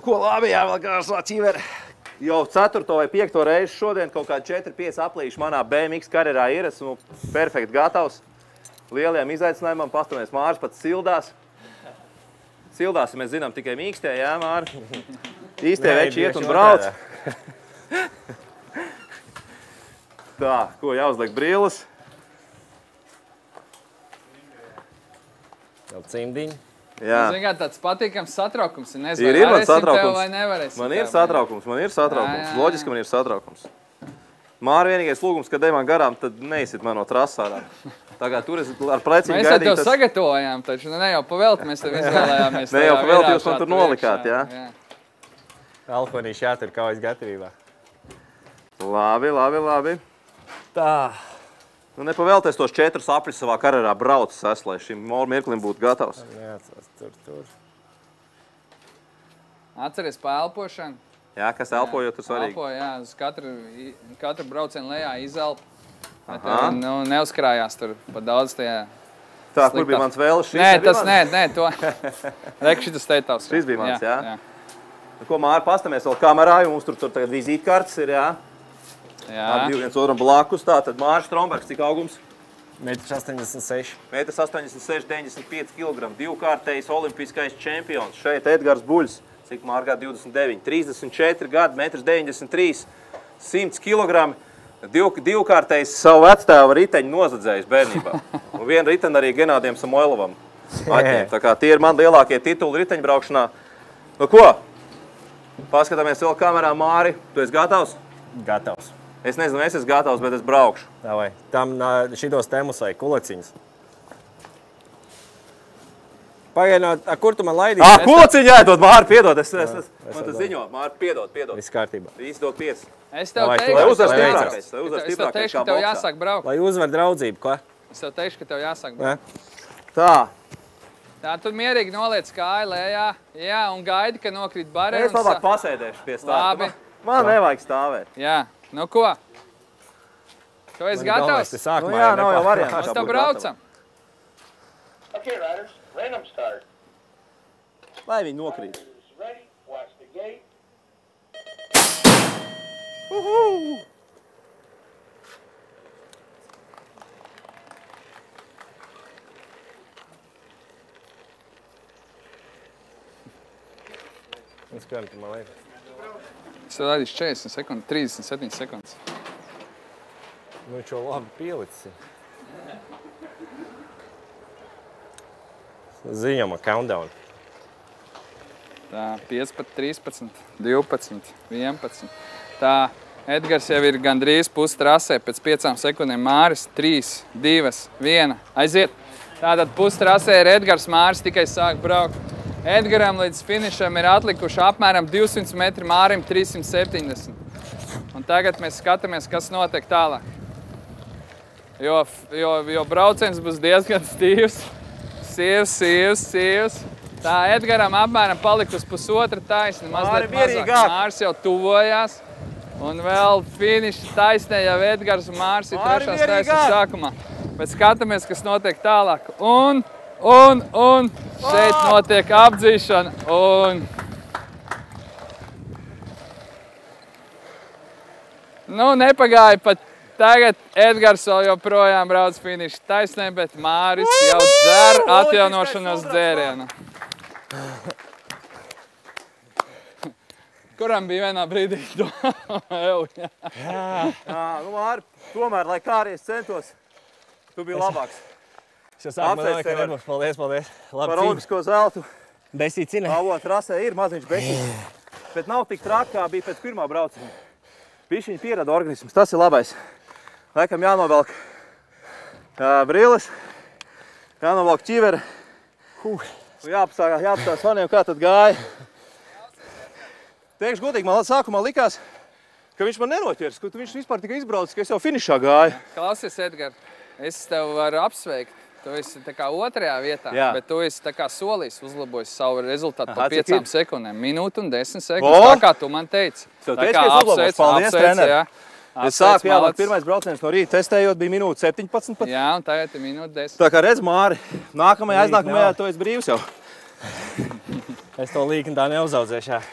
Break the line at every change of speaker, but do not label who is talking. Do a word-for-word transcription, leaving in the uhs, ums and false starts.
Ko labi, jā, vēl gāžas ķiveri. Jau ceturto vai piekto reizi šodien kaut kādi četri pieci aplīši manā B M X karjerā ir. Esmu perfekti gatavs lielajam izaicinājumam. Pastamies, Māris pats sildās. Sildās, ja mēs zinām, tikai mīkstie, jā, Māri? Īstie veči iet un brauc. Tā, ko jāuzliek brīles?
Jau cimdiņi.
Zini, kā tāds patīkams satraukums.
Ir, ir man satraukums.
Vai nevarēsim
man ir satraukums, man ir satraukums. Jā, jā, jā. Loģiski man ir satraukums. Māri vienīgais lūgums, kad ej man garām, tad neizsit man no trasārā. Tā kā tur es ar pleciņu
gaidīju. Mēs
gaidīt,
tev
tas...
sagatavojām, taču ne jau pavēlti mēs tev izvēlējāmies.
Ne jau pavēlti jūs man tur nolikāt, jā?
jā.
Alfonīši jātur kaujas gatavībā.
Labi, labi, labi.
Tā.
Nu, nepavēlties tos četrus apļus savā karjerā braucis es, lai šim mirklim būtu gatavs.
Neatceras, tur, tur.
Atceries pa elpošanu.
Jā, kas elpojot, tur svarīgi.
Elpo, jā, uz katru, katru braucienu lejā izelp. Bet nu, neuzkrājās tur pa daudz tajā.
Tā, kur bija mans vēles? Šis
nē, tas nē, nē, to. Reik, šitas teitavs.
Šis bija mans, jā?
Jā.
jā. Ko, Māri, pastamies vēl kamerā, jo mums tur, tur tagad vizītkartes ir, jā?
Jā.
Ar divi viens otram blakus. Tā, tad Māris Strombergs, cik augums?
metrs astoņdesmit seši.
metrs astoņdesmit seši, deviņdesmit pieci kilogramu. Divkārtējs olimpiskais čempions. Šeit Edgars Buļs, cik Māri gadu divdesmit deviņi. trīsdesmit četri gadi, metrs deviņdesmit trīs, simts kilogramu. Div, divkārtējs savu vectēva riteņu nozadzējis bērnībā. Un vienu riteni arī Genādiem Samoilovam atņēma. Tā kā tie ir man lielākie tituli riteņu braukšanā. Nu ko? Paskatāmies vēl kamerā, Māri. Tu esi gatavs?
Gatavs.
Es nezinu, es esmu gatavs, bet es braukšu.
Davai. Tam šitos temus vai kuleciņas. Pagaidināt, kur tu man laidīsi?
Ah, kuleciņu jāiedod, Māri, piedod. Es, es, es, man tas ziņo. Māri, piedod, piedod.
Viss kārtībā.
Viss dod pieci.
Es tev
Lai
teikšu,
Lai uzvar
Lai
stiprākais. Lai uzvar
es tev
stiprākais
teikšu,
kā
ka tev
boksā.
jāsāk braukt.
Lai uzvar draudzību, ko?
Es tev teikšu, ka tev jāsāk braukt.
Tā.
Tā, tu mierīgi noliec kāju lejā, jā, un gaidi, ka nokrīt barē.
Es labāk pasēdēšu pie stāvā.
Labi.
Man nevajag stāvēt.
Jā, nu ko? Tu esi gatavs?
Nu jā, nav jau variants.
Mēs tev braucam.
Okay, riders, random start.
Lai viņi nokrīt.
Ready, watch the gate.
Uhu!
Un skam, tu man liekas.
Es tev laidīšu četrdesmit sekundes, trīsdesmit septiņas sekundes.
Nu, viņš jau labi pielicis. Ziņama countdown.
Tā, piecpadsmit, trīspadsmit, divpadsmit, vienpadsmit. Tā, Edgars jau ir gandrīz pusi trasē, pēc piecām sekundēm Māris, trīs, divas, viena, aiziet. Tātad pusi trasē ir Edgars, Māris tikai sāk braukt. Edgaram līdz finišam ir atlikuši apmēram divsimt metri, Mārim trīssimt septiņdesmit. Un tagad mēs skatāmies, kas notiek tālāk. Jo, jo, jo brauciens būs diezgan stīvs. Sīvs, sīvs, sīvs. Tā, Edgaram apmēram palikusi pusotra taisni, mazliet mazāk. Māris jau tuvojās. Un vēl finiša taisnē jau Edgars un Māris ir trešās taisnes sākumā. Bet skatāmies, kas notiek tālāk. Un, un, un šeit notiek apdzīšana. Un... Nu, nepagāja pat tagad. Edgars vēl joprojām brauc finiša taisnē, bet Māris jau dzer atjaunošanos dzērienu. Kuram bija vienā brīdī domāju?
Jā, nu, Māri, tomēr, lai kā arī es centos, tu biji labāks.
Es jau sāku man domāju, ka nebūs. Paldies, paldies.
Par olimpisko zeltu.
Besīt cine.
Avot trasē ir maziņš besīts, bet nav tik traki, kā bija pēc pirmā brauciena. Bišķiņi pierada organisms, tas ir labais. Laikam jānovelk brīles, jānovelk ķivere. Jāapstās faniem, kā tad gāja. Teikšu godīgi, man sākumā likās, ka viņš man nenoķers, ka viņš vispār tikai izbraucis, ka es jau finišā gāju.
Klausies, Edgar, es tev varu apsveikt. Tu esi tā kā otrajā vietā,
Jā.
bet tu esi tā kā solījis uzlabojis savu rezultātu
Aha,
pa piecām
ir?
sekundēm. Minūtu un desmit sekundes,
O!
tā kā tu man teici.
Tev
Tā
teici,
kā
ka es uzlabos.
apsveic,
Paldies,
apsveic,
treneri.
jā.
Es sāku,
Apsveic,
jā, man
malacis.
pirmais brauciens no rīta testējot bija minūte septiņpadsmit pat.
Jā, un tagad ir minūte desmit.
Tā kā redz, Māri, nākamajā,
Rīt
aiznākamajā
nav.
tu esi brīvs jau.
Es to līkni tā neuzaudzēšu.